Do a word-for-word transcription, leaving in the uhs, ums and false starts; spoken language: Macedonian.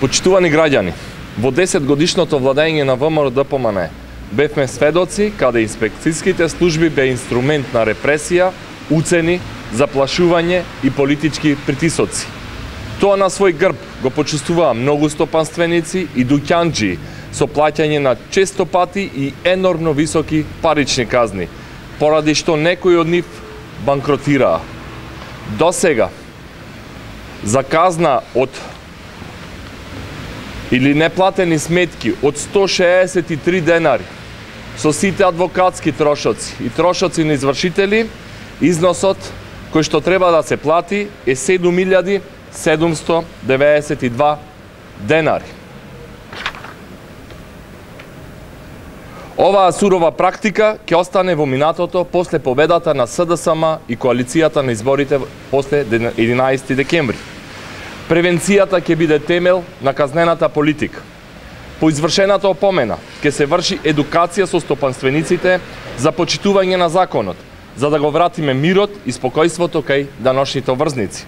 Почитувани граѓани, во десет годишното владење на ВМРО-ДПМН бевме сведоци каде инспекцијските служби бе инструмент на репресија, уцени, заплашување и политички притисоци. Тоа на свој грб го почувствуваа многу стопанственици и дуќанџи со плаќање на често пати и енормно високи парични казни, поради што некои од нив банкротираа. До сега, за казна од или неплатени сметки од сто шеесет и три денари, со сите адвокатски трошоци и трошоци на извршители, износот кој што треба да се плати е седум илјади седумсто деведесет и два денари. Оваа сурова практика ќе остане во минатото после победата на СДСМ и коалицијата на изборите после единаесети декември. Превенцијата ќе биде темел на казнената политика. По извршената опомена ќе се врши едукација со стопанствениците за почитување на законот, за да го вратиме мирот и спокојството кај даношните врзници.